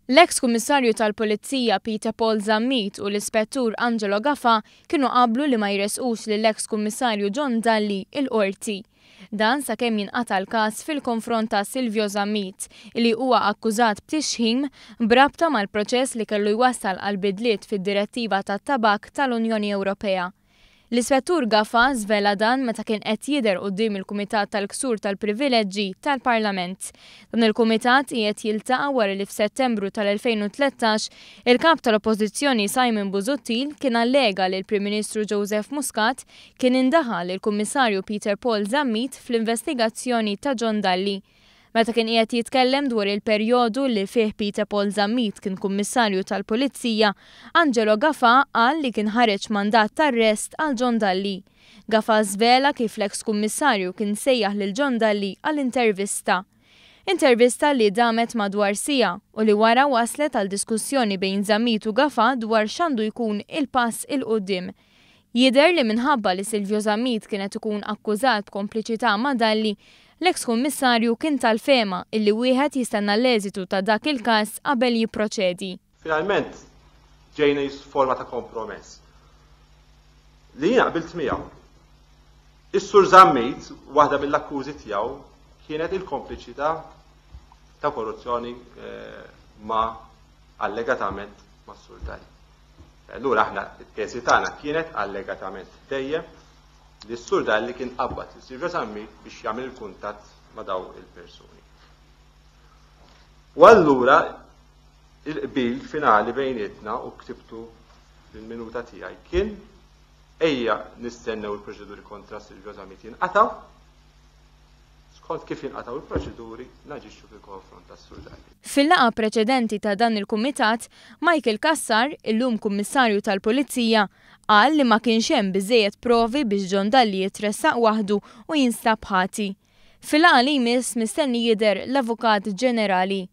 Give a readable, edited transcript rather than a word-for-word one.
L-eks Kummissarju tal-Pulizija Peter Paul Zammit u l-Ispettur Angelo Gafà kienu qablu li ma jressqux lill-eks Kummissarju John Dalli l-Qorti. Dan sakemm jinqata' l-każ fil-konfront ta' Silvio Zammit, li huwa akkużat b'tixħim b'rabta mal-proċess li kellu jwassal għal bidliet fid-Direttiva tat-Tabakk tal-Unjoni Ewropea. L-Ispettur Gafà żvela dan meta kien qed jidher quddiem il-Kumitat tal-Ksur tal-Privileġġi tal-Parlament. Dan il-Kumitat qiegħed jiltaqa' wara li f'Settembru tal-2013 il-Kap tal-Oppożizzjoni Simon Busuttil kien allega li l-Prim Ministru Joseph Muscat kien indaħal lill-Kummissarju Peter Paul Zammit fl-investigazzjoni ta' John Dalli. Meta kien qiegħed jitkellem dwar il-perjodu li fih Peter Paul Zammit kien Kummissarju tal-Pulizija, Angelo Gafà qal li kien ħareġ mandat t'arrest għal John Dalli. Gafà żvela kif l-eks Kummissarju kien sejjaħ lil John Dalli għal intervista. Intervista li damet madwar siegħa u li wara wasslet għal diskussjoni bejn Zammit u Gafà dwar x'għandu jkun il-pass 'il quddiem. Jidher li minħabba li Silvio Zammit kien qed ikun akkużat b'kompliċità ma' Dalli, l-eks Kummissarju kien tal-fehma illi wieħed jistenna l-eżitu ta' dak il-każ qabel jipproċedi. Finalment ġejna forma ta' kompromess li jiena qbilt miegħu. Is-Sur Zammit, waħda mill-akkużi tiegħu kienet il-kompliċità ta' korruzzjoni ma' allegatament mas-Sur Dalli. Allura aħna t-teżi tagħna kienet allegatament dejjem li s-Sur Dalli kien qabbad lil Silvio Zammit biex jagħmel il-kuntatt ma' daw il-persuni. U allura il-qbil finali bejnietna u ktibtu fil-minuta tiegħi kien ejja nistennew il-proċeduri kontra Silvio Zammit jinqatgħu. Skont kif jinqatgħu il-proċeduri, naġixxu fil-konfront tas-Sur Dalli. Fil-laqgħa preċedenti ta' dan il-kumitat, Michael Cassar, illum Kummissarju tal-Pulizija, qal li ma kienx hemm biżżejjed provi biex John Dalli jitressaq waħdu u jinstab ħati. Fil-laqgħa li jmiss mistenni jidher l-Avukat Ġenerali.